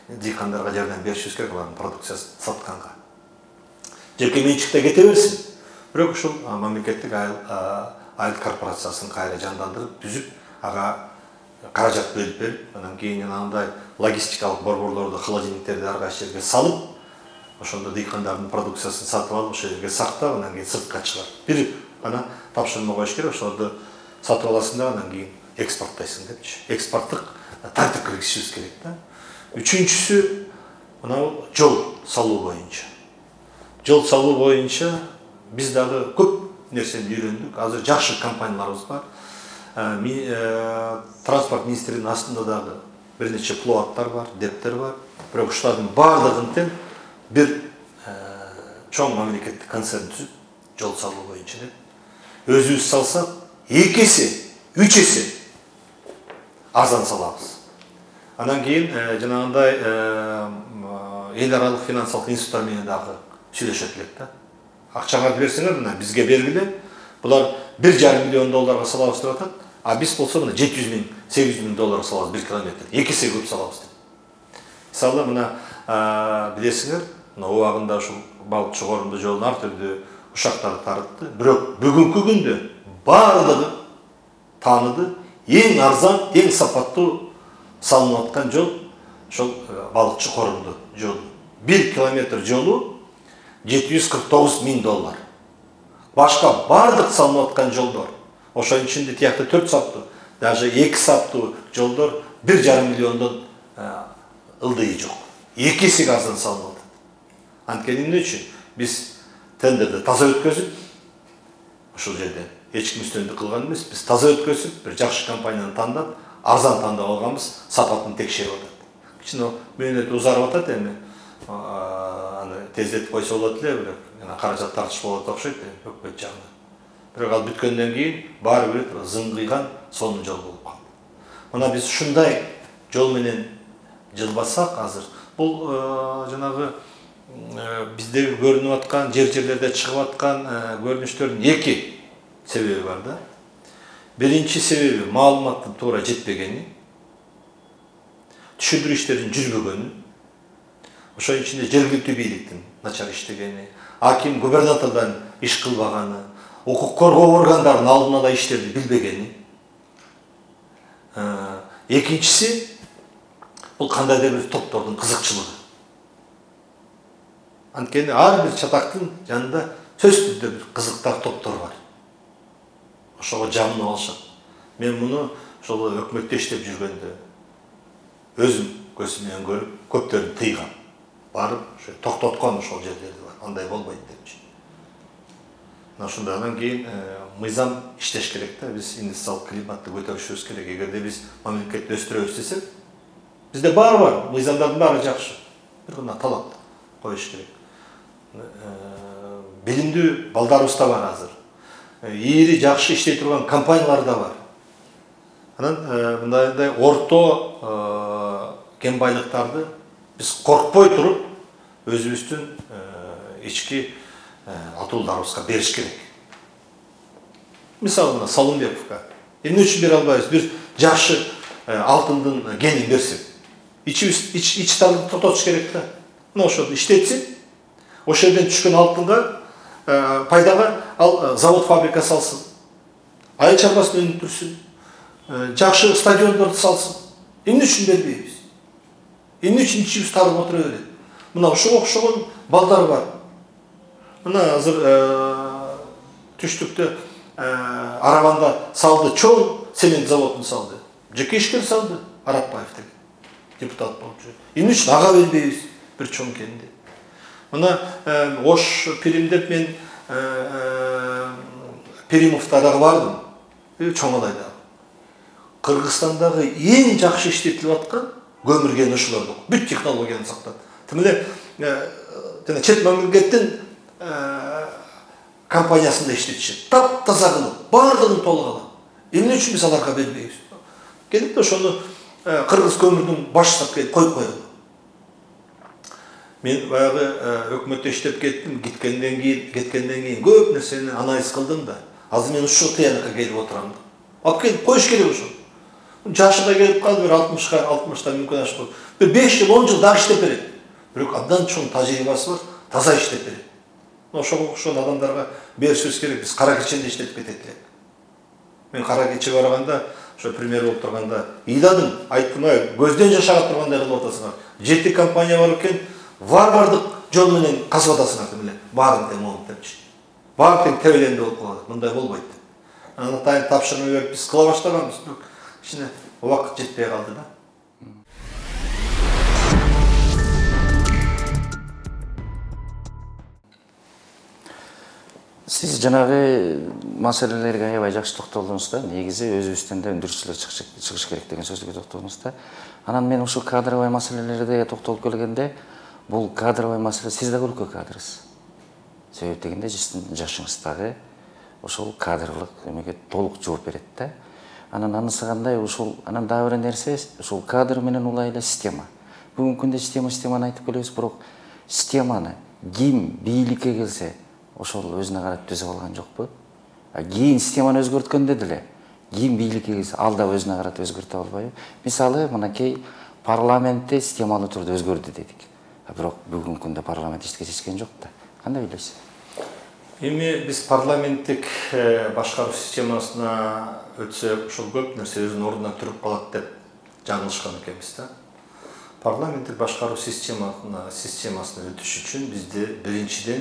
дыйкандарга жардам беришибиз керек алардын продукциясын сатканга. Жеке менчикте кете берсин. Бирок ушул мамлекеттик айыл корпорациясын кайра жандандырып, түзүп, ага каражат берип, андан кийин андай логистикалык борборлорду, холодильниктерди ар кайсы жерге салып, ошондо дыйкандардын продукциясын сатып алып, ошол жерге сактап, андан кийин сыртка чыгат. Бир ана тапшырма коюш керек, ошолорду сатып аласың да, андан кийин экспорттойсуң депчи. Экспорттук тартип киргизишибиз керек да. Үчүнчүсү мына жол салуу боюнча. Жол салуу боюнча биз дагы көп нерсени үйрөндүк. Азыр жакшы компанияларыбыз бар. Транспорт министринин астында дагы бир нече плоаттар бар, дептер бар. Бирок ушулардын баардыгын тең бир чоң мамлекеттик концерн түзүп, жол салуу боюнча өзүбүз салсак, 2 эсе, 3 эсе арзан салабыз. Андан кийин жанагындай эл аралык финансылык институттар менен дагы сүйлөшөт элек да. Акчаңарды берсеңер, мына бизге бергиле, Булар 1,5 миллион долларга салабыз деп атат, а биз болсо мына 700 миң, 800 миң долларга салабыз 1 километр. 2 эсе көп салабыз деп. Мисалы мына билесиңер, мына убагында ушул балыкчы корумду жолун ар түрдүү ушактарды тарытты. Бирок бүгүнкү күндө баардыгы тааныды, эң арзан, эң сапаттуу салынып аткан жол ошол балыкчы корумду жолу. 1 километр жолу 749 миң доллар. Башка бардык салынып аткан жолдор, ошонун ичинде тиякта 4 саптуу, даже 2 саптуу жолдор 1,5 миллиондон ылдыйы жок. 2 эсе арзан салынып атат. Анткени эмне үчүн? Биз тендерди таза өткөзүп, ошол жерде эч ким үстөмдүк кылган эмес, биз таза өткөзүп, бир жакшы компанияны тандап, арзан тандап алганбыз, сапатын текшерип атат. Кичине мөөнөтү узарып атат эми. Аны тездетип койсо болот эле, бирок каражат тартыш болот окшойт өкмөт жагынан. Бирок ал бүткөндөн кийин баары бир зыңгыйган сонун жол болуп калды. Мына биз ушундай жол менен жылбасак азыр, бул жанагы биздеги көрүнүп аткан, жерлерде чыгып аткан көрүнүштөрдүн 2 себеби бар да. Биринчи себеби маалыматтын туура жетпегени, түшүндүрүү иштеринин жүрбөгөнү, ошонун ичинде жергиликтүү бийликтин начар иштегени, аким губернатордон иш кылбаганы, укук коргоо органдарынын алдын ала иштерди билбегени. Экинчиси бул кандайдыр бир топтордун кызыкчылыгы. Анткени ар бир чатактын жанында сөзсүз түрдө бир кызыктар топтор бар. Ошого жамынып алышат. Мен муну ошол өкмөттө иштеп жүргөндө өзүм көзүм менен көрүп, көптөрүн тыйгам. Барып, токтоткон ошол жерлерди бар. Андай болбойт депчи. Мына ошондон кийин мыйзам иштеш керек да. Биз инвестициялык климатты көтөрүшүбүз керек. Эгерде биз мамлекетти өстүрөбүз десек, бизде баары бар, мыйзамдардын баары жакшы. Бир гана талап коюш керек. Билимдүү балдарыбыз да бар азыр. Ийри жакшы иштей турган компаниялар да бар. Анан мындай орто кен байлыктарды биз коркпой туруп өзүбүздүн ички атуулдарыбызга бериш керек. Мисалы мына Салымбековго эмне үчүн бере албайбыз? Бир жакшы алтындын кенин берсек, ич тартып тототуш керек да. Мына ошону иштетсин, ошол жерден түшкөн алтынга пайдага ал завод, фабрика салсын. Айыл чарбасын өнүктүрсүн. Жакшы стадиондорду салсын. Эмне үчүн бербейбиз? Эмне үчүн ичибиз тарып отура берет? Мына ошого окшогон балдар бар. Мына азыр түштүктө Арабанда салды, чоң цемент заводун салды. Жеке ишкер салды, Арапбаев деген депутат болуп жүрөт. Эмне үчүн ага бербейбиз бир чоң кенди? Мына Ош Пиримдеп мен Перимовда дагы бардым. Чоң Алайда. Кыргызстандагы эң жакшы иштетилип аткан көмүр кени ошолордо. Бүт технологияны сактап. Тим эле жана чет мамлекеттин компаниясында иштетишет. Таптаза кылып, бардыгын толук алат. Эмне үчүн биз аларга бербейбиз? Келип ошону кыргыз көмүрдүн башчысына келип коюп коелу. Мен баягы өкмөттө иштеп кеттим, кеткенден кийин көп нерсени анализ кылдым да. Азыр мен ушул тыянакка келип отурам да. Алып келип коюш керек ошо. Жашы да келип калды, бир 60-та мүмкүн ашып калды. Бир 5 жыл, 10 жыл дагы иштеп берет. Бирок абдан чоң тажрыйбасы бар, таза иштеп берет. Ошого окшогон адамдарга беришибиз керек. Биз кара кеченде иштетип кетет элек. Мен кара кече барганда, ошо премьер болуп турганда, ыйладым, айттым, көздөн жаш ага тургандай кылып атасыңар. 7 компания бар экен, бардык жол менен казып атасыңар деп эле. Баарын тең болуп депчи. Баары тең тебеленде болуп калат. Мындай болбойт деп. Анан тапшырма берип биз кыла баштаганбыз, бирок кичине убакыт жетпей калды да. Сиз жанагы маселелерге аябай жакшы токтолдуңуз да. Негизи өзүбүздөн да өндүрүүчүлөр чыгыш керек деген сөзгө токтолдуңуз да. Анан мен ушул кадровый маселелерге токтолуп келгенде, бул кадровый маселе, сиз да өлкө кадрысыз. Себеп дегенде сиздин жашыңыздагы ошол кадрлык эмеге толук жооп берет да. Анан анысы кандай, ушул анан дагы бир нерсе, ушул кадр менен улай эле система. Бүгүнкү күндө системаны айтып келебиз, бирок системаны ким бийликке келсе, ошол өзүнө карап түзүп алган жокпу? Кийин системаны өзгөрткөндө деле кийин бийликке келсе ал да өзүнө карата өзгөртө албайбы? Мисалы, мынакей парламентте системалуу түрдө өзгөрдү дедик. Бирок бүгүнкү күндө парламент эч чечкен жок да. Кандай ойлойсуз? Эми биз парламенттик башкаруу системасына өтсөк, ошол көп нерсе өзүнүн ордуна туруп калат деп жаңылышкан экенбиз да. Парламенттик башкаруу системасына өтүш үчүн бизде биринчиден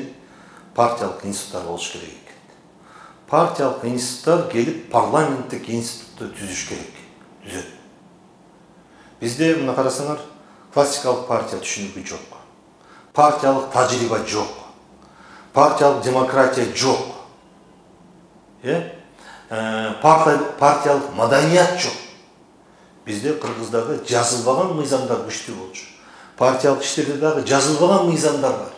партиялык институттар болуш керек экен. Партиялык институттар келип парламенттик институтту түзүш керек. Түзөт. Бизде мына карасаңар, классикалык партия түшүнүгү жок. Партиялык тажрыйба жок. Партиялык демократия жок. Партиялык маданият жок. Бизде Кыргыздагы жазылбаган мыйзамдар күчтүү болчу. Партиялык иштерде дагы жазылбаган мыйзамдар бар.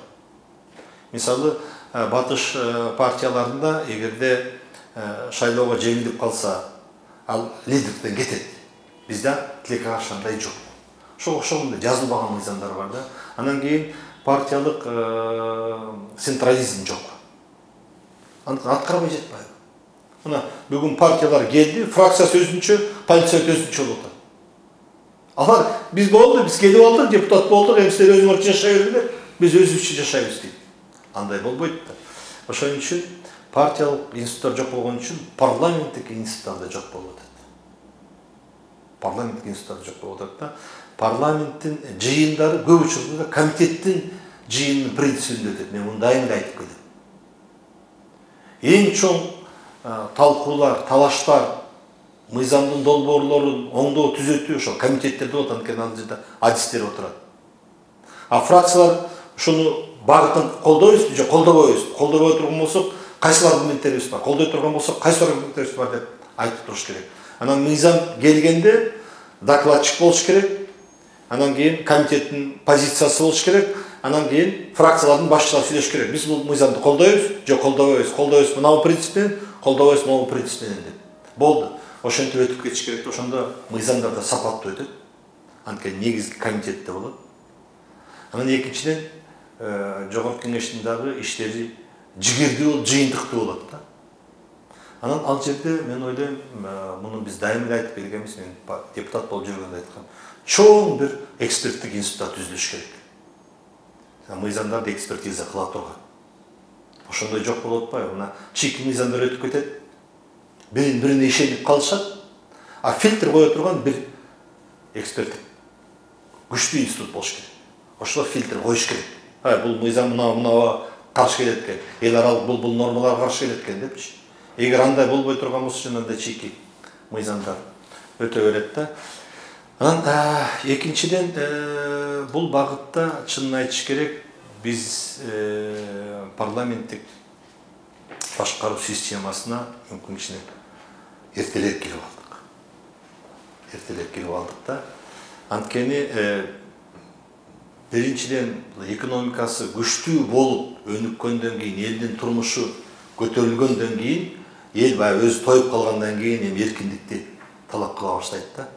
Мисалы, батыш партияларында эгерде шайлоого жеңилип калса, ал лидерден кетет. Бизде тилекке каршы андай жок. Ошого окшогон жазылбаган мыйзамдар бар да. Анан кийин партиялык централизм жок. Аткарбай жатпайбы? Мына бүгүн партиялар келди, фракциясы өзүнчө, политсовет өзүнчө болот. Алар биз болду, биз келип алдык, депутат болдук, эми силер өзүңөр жашай бергилер, биз өзүбүзчө жашайбыз дейт. Андай болбойт да. Ошон үчүн партиялык институттар жок болгон үчүн парламенттик институттар да жок болуп атат. Парламенттик институттар жок болуп атат да. Парламенттин жыйындары көп учурда комитеттин жыйынынын принцибинде өтөт. Мен муну дайым айтып келем. Эң чоң талкуулар, талаштар, мыйзамдын долбоорлорун оңдоо, түзөтүү ошол комитеттерде болот, анткени ал жерде адистер отурат. А фракциялар ушуну багытын колдойбузбу же колдобойбузбу? Колдобой турган болсок, кайсы аргументтерибиз бар? Колдой турган болсок, кайсы аргументтерибиз бар деп айтып туруш керек. Анан мыйзам келгенде докладчик болуш керек. Анан кийин комитеттин позициясы болуш керек. Анан кийин фракциялардын башчылары сүйлөш керек. Биз бул мыйзамды колдойбуз же колдобойбуз? Колдойбуз мына принцип менен, колдобойбуз мына принцип менен деп. Болду. Ошентип өтүп кетиш керек. Ошондо мыйзамдар да сапаттуу өтөт. Анткени негизги комитетте болот. Анан экинчиден жогорку кеңештин дагы иштери жигердүү болуп, жыйынтыктуу болот да. Анан ал жерде мен ойлойм, муну биз дайым айтып келгенбиз, мен депутат болуп жүргөндө айткам. Чоң бир эксперттик институт түзүлүш керек. Мыйзамдарды экспертиза кыла турган. Ошондой жок болуп атпайбы? Мына чийки мыйзамдар өтүп кетет. Бирине ишенип калышат. А фильтр кое турган бир эксперттик күчтүү институт болуш керек. Ошол фильтр коюш керек. Бул мыйзам мынага каршы келет экен. Эл аралык бул нормаларга каршы келет экен депчи. Эгер андай болбой турган болсо, анда чийки мыйзамдар өтө берет да. Анан экинчиден бул багытта чынын айтыш керек, биз парламенттик башкаруу системасына мүмкүн кичине эртелээк кирип алдык да. Анткени биринчиден экономикасы күчтүү болуп өнүккөндөн кийин, элдин турмушу көтөрүлгөндөн кийин, эл баягы өзү тоюп калгандан кийин эми эркиндикти талап кыла баштайт да.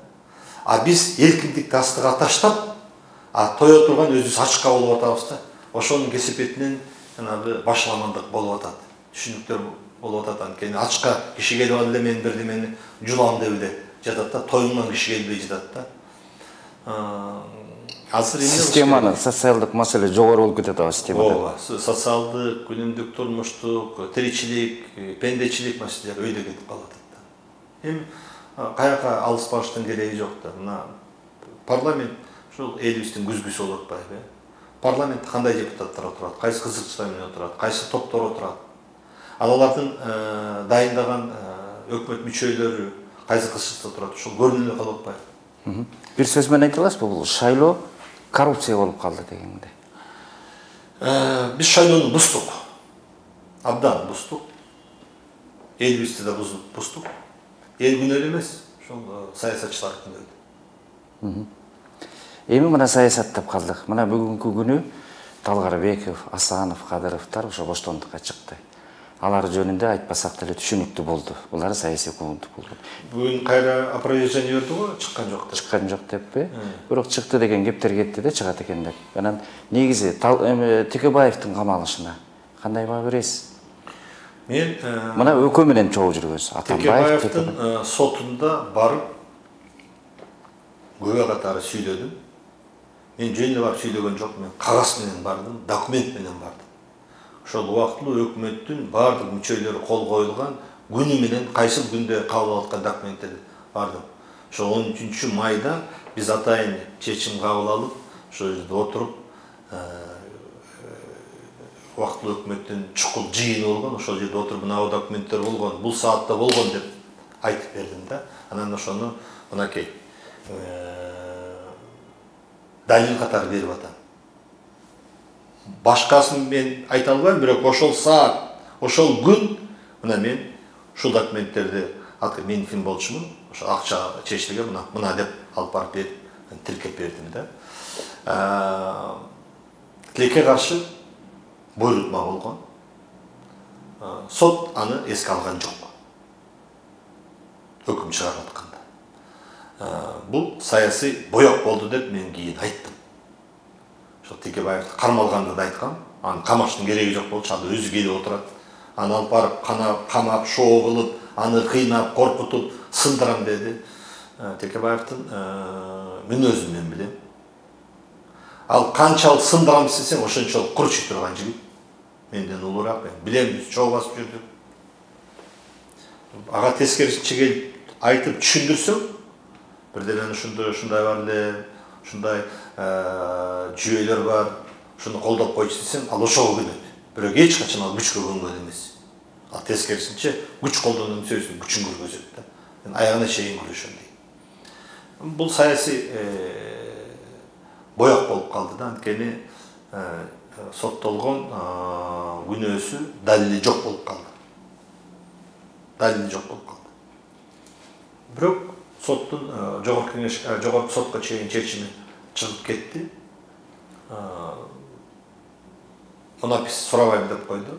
А биз эркиндикти астыга таштап, тое турган өзүбүз ачка болуп атабыз да. Ошонун кесепетинен жанагы башаламандык болуп атат. Түшүнүктөр болуп атат. Анткени ачка киши келип алып эле мен бирдемени жулам деп эле жатат да, тоюңан киши келбей жатат да. Азыр системаны социалдык маселе жогору болуп кетет ага системада. Ооба, социалдык, күнүмдүк турмуштук, тиричилик, пендечилик маселелер өйдө кетип калат да. Эми каяка алыс барыштын кереги жок да. Мына парламент ушул элибиздин күзгүсү болуп атпайбы? Парламентте кандай депутаттар отурат, кайсы кызыкчылар менен отурат, кайсы топтор отурат. Алардын дайындаган өкмөт мүчөлөрү кайсы кызыкчылыкта отурат, ушул көрүнүп эле калып атпайбы? Бир сөз менен айта аласызбы, бул шайлоо коррупция болуп калды дегенде? Биз шайлоону буздук. Абдан буздук. Элибизди да буздук. Эл күнөө эмес, ошол саясатчылар күнөө. Эми мына саясаттап калдык. Мына бүгүнкү күнү Талгарбеков, Асанов, Кадыровдор ошо боштондукка чыкты. Алар жөнүндө айтпасак деле түшүнүктүү болду. Булар саясий куугунтук болду. Бүгүн кайра опровержение бердиго, чыккан жок деп. Чыккан жок деппи? Бирок чыкты деген кептер кетти да, чыгат экен деп. Анан негизи Текебаевдин камалышына кандай баа бересиз? Мен мына ÖKÖ менен чогуу жүргөнсүз. Атамбаев Текебаевдин сотунда барып күбө катары сүйлөдүм. Мен жөн эле барып сүйлөгөн жокмун. Мен кагаз менен бардым, документ менен бардым. Ошол убактылуу өкмөттүн бардык мүчөлөрү кол коюлган күнү менен кайсыл күндө кабыл алып аткан документтерди бардым. Ошо 13 майда биз атайын чечим кабыл алып, ошол жерде отуруп, убактылуу өкмөттүн чукул жыйыны болгон, ошол жерде отуруп мына документтер болгон, бул саатта болгон деп айтып бердим да. Анан ошону мынакей далил катары берип атам. Башкасын мен айта албайм, бирок ошол саат, ошол күн мына мен ушул документтерди мен ким болчумун, ошо акча чечилген мына деп алып барып берип, тиркеп бердим да. Тилекке каршы буйрутма болгон. Сот аны эске алган жок. Өкүм чыгарып атканда. Бул саясий боек болду деп мен кийин айттым. Ошо Текебаевди кармалганда да айткам, аны камаштын кереги жок болчу, ал өзү келип отурат. Аны алып барып камап, шоо кылып, аны кыйнап, коркутуп, сындырам деди. Текебаевдин мүнөзүн мен билем. Ал канчалык сындырам десең, ошончолук курчуй турган жигит. Менден улуураак, мен билем, биз чогуу басып жүрдүк. Ага тескерисинче келип айтып түшүндүрсөм, бирден ушундай бар эле, ушундай жүйөлөр бар, ушуну колдоп койчу десең, ал ошого көнөт. Бирок эч качан ал күчкө көнгөн эмес. Ал тескерисинче күч колдонуп сөзүн күчүн көргөзөт да. Мен аягына чейин күрөшөм дейм. Бул саясий боек болуп калды да, анткени соттолгон күнөөсү далили жок болуп калды. Далили жок болуп калды. Бирок соттун жогорку сотко чейин чечими чыгып кетти. Мунапис сурабайм деп койду.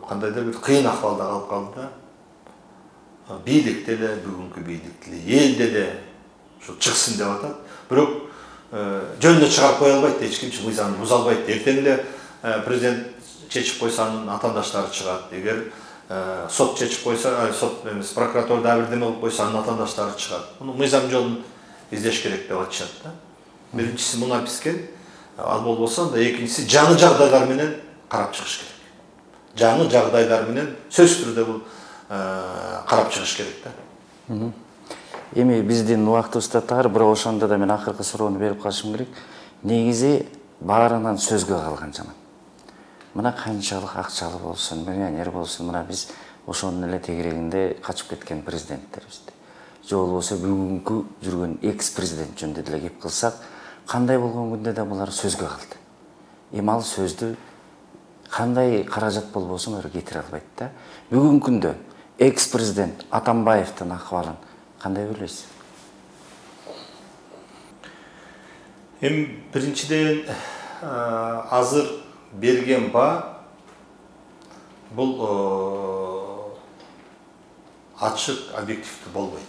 Кандайдыр бир кыйын акыбалда калып калды да. Бийлик деле, бүгүнкү бийлик деле, эл деле ушу чыксын деп атат. Бирок жөн эле чыгарып кое албайт, эч ким мыйзамды буза албайт. Эртең эле президент чечип койсо анын атаандаштары чыгат. Эгер сот чечип койсо, сот эмес, прокуратура да бирдеме кылып койсо анын атаандаштары чыгат. Муну мыйзам жолун издеш керек деп атышат да. Биринчиси Мунаписке, ал болбосо анда экинчиси жаңы жагдайлар менен карап чыгыш керек. Жаңы жагдайлар менен сөзсүз түрдө бул карап чыгыш керек да. Эми биздин убактыбыз да тар, бирок ошондо да мен акыркы суроону берип калышым керек. Негизи баарынан сөзгө калган жаман. Мына канчалык акчалуу болсун, миллионер болсун, мына биз ошонун эле тегерегинде качып кеткен президенттерибизди. Же болбосо бүгүнкү жүргөн экс-президент жөнүндө деле кеп кылсак, кандай болгон күндө да булар сөзгө калды. Эми ал сөздү кандай каражат болбосун ары кетире албайт да. Бүгүнкү күндө экс-президент Атамбаевдин акыбалын кандай ойлойсуз? Эми биринчиден азыр берген баа бул ачык, объективдүү болбойт.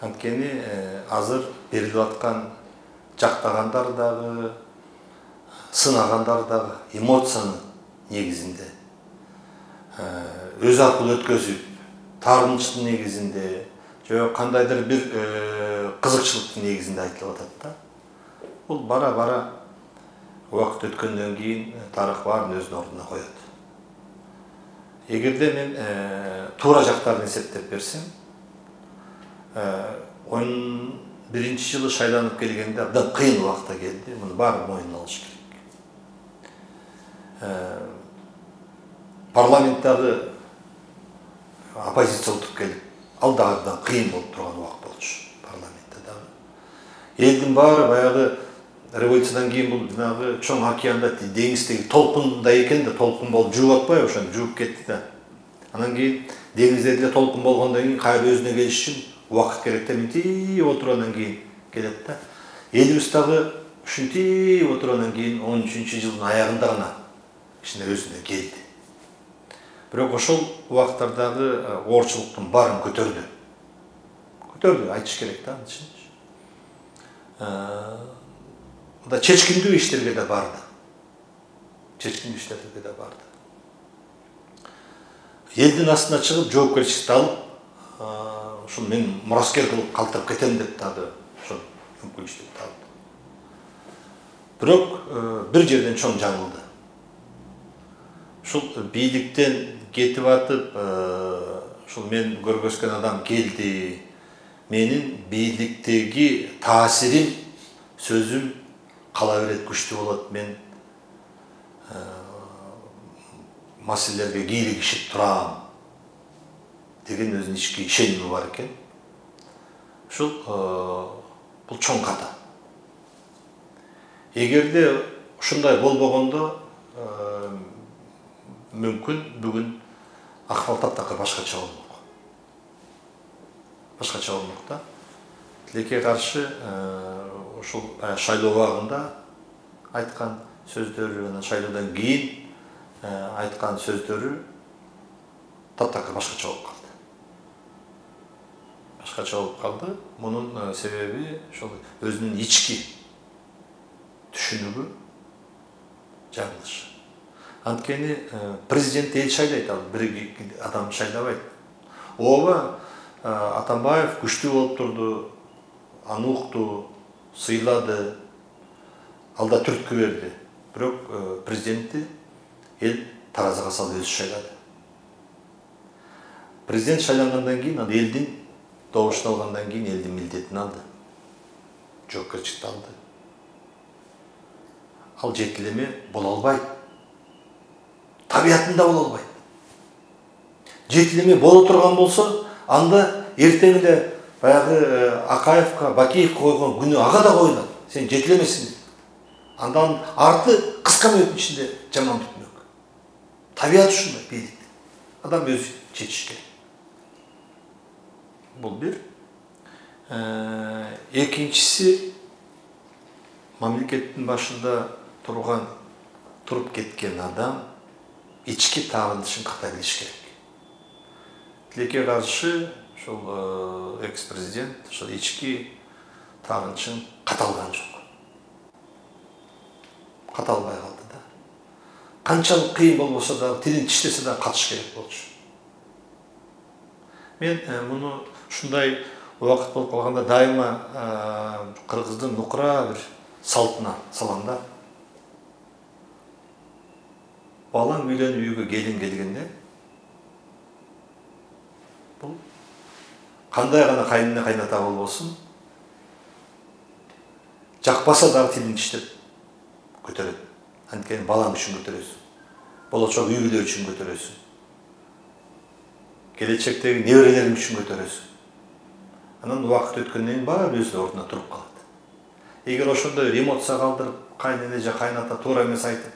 Анткени азыр берилип аткан жактагандар дагы, сынагандар дагы эмоциянын негизинде, өз аркылуу өткөзүп, таарынычтын негизинде, же кандайдыр бир кызыкчылыктын негизинде айтылып атат да. Бул бара-бара убакыт өткөндөн кийин тарых баарын өзүнүн ордуна коет. Эгерде мен туура жактарын эсептеп берсем, 11 жылы шайланып келгенде абдан кыйын убакта келди. Муну баары моюнуна алыш керек. Парламенттагы оппозиция утуп келип, ал дагы абдан кыйын болуп турган убакыт болчу парламентте дагы. Элдин баары баягы революциядан кийин бул жанагы чоң океанда деңиздеги толкундай экен да, толкун болуп жууп атпайбы, ошону жууп кетти да. Анан кийин деңизде деле толкун болгондон кийин кайра өзүнө келиш үчүн убакыт керек да, мынтип отургандан кийин келет да. Элибиз дагы ушинтип отургандан кийин 13 жылдын аягында гана кичине өзүнө келди. Бирок ошол убакыттардагы оорчулуктун баарын көтөрдү. Көтөрдү, айтыш керек да, античинчи. Да чечкиндүү иштерге да барды. Чечкиндүү иштерге да барды. элдин астына чыгып жоопкерчиликти алып ушул мен мураскер кылып калтырып кетем деп дагы ошол мүмкүнчүлүктү алды. Бирок бир жерден чоң жаңылды. Ушул бийликтен кетип атып, ушул мен көргөзгөн адам келди. Менин бийликтеги таасирим, сөзүм кала берет, күчтүү болот. Мен маселелерге кийлигишип турам деген өзүнүн ички ишеними бар экен. Ушул бул чоң ката. Эгерде ушундай болбогондо мүмкүн бүгүн акыбал таптакыр башкача болмок. Башкача болмок да. Тилекке каршы ушул шайлоо убагында айткан сөздөрү, анан шайлоодон кийин айткан сөздөрү таптакыр башкача болуп калды. Башкача болуп калды. Мунун себеби ошол өзүнүн ички түшүнүгү жаңылыш. Анткени президент эл шайлайт, ал бир адам шайлабайт. Ооба Атамбаев күчтүү болуп турду, аны укту, сыйлады, алда түрткү берди. Бирок президентти эл таразага салып өзү шайлады. Президент шайлангандан кийин ал элдин добушун алгандан кийин элдин милдетин алды. Жоопкерчиликти алды. Ал жетилеме боло албайт. Табиятында боло албайт. Жетилеме боло турган болсо, анда эртең эле баягы Акаевка, Бакиевке койгон күнү ага да коюлат. Сен жетилемесиң. Андан арты кыска мөөнөттүн ичинде жаман бүтмөк. Табият ушундай бийлик. Адам өзү чечиш керек. Бул бир. Экинчиси, мамлекеттин башында туруп кеткен адам ички тагынышын ката билиш керек. Тилекке каршы ошол экс-президент ошол ички тагынышын каталган жок. Каталбай калды да. Канчалык кыйын болбосо да, тилин тиштесе да катыш керек болчу. Мен муну ушундай убакыт болуп калганда дайыма кыргыздын нукура бир салтына салам да. Балаң үйлөнүп үйгө келин келгенде бул кандай гана кайнына кайната болбосун, жакпаса дагы тилин тиштеп көтөрөт. Анткени балаң үчүн көтөрөсүң. Болочок үй бүлө үчүн көтөрөсүң. Келечектеги неберелериң үчүн көтөрөсүң. Анан убакыт өткөндөн кийин баары өз ордуна туруп калат. Эгер ошондой эмоция калтырып, кайнене же кайната туура эмес айтып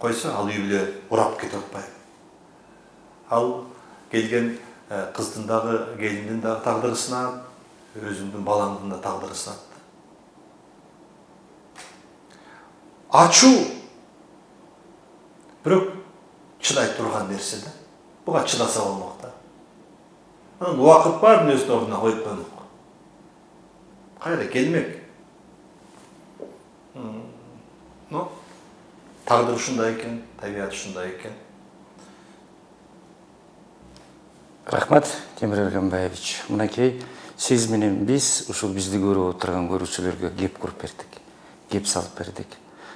койсо, ал үй бүлө урап кетип атпайбы. Ал келген кыздын дагы, келиндин дагы тагдыры сынат, өзүңдүн балаңдын да тагдыры сынат. Ачуу бирок чыдай турган нерсе да. Буга чыдаса болмок да. Анан убакыт баарын өзүнүн ордуна коюп коймок. Кайра келмек. Но тагдыр ушундай экен, табият ушундай экен. Рахмат, Темир Эргенбаевич. Мынакей сиз менен биз ушул бизди көрүп отурган көрүүчүлөргө кеп куруп бердик. Кеп салып бердик.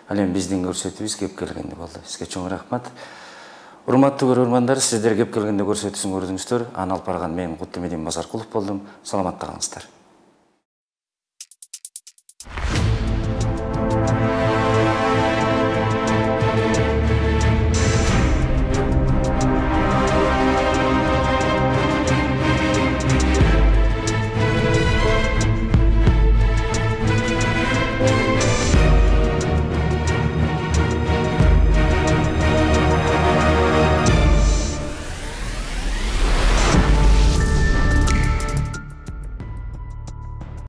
Ал эми биздин көрсөтүүбүз кеп келгенде болду. Сизге чоң рахмат. Урматтуу көрөрмандар, сиздер кеп келгенде көрсөтүүсүн көрдүңүздөр. Аны алып барган мен Куттумедин Базаркулов болдум. Саламатта калыңыздар.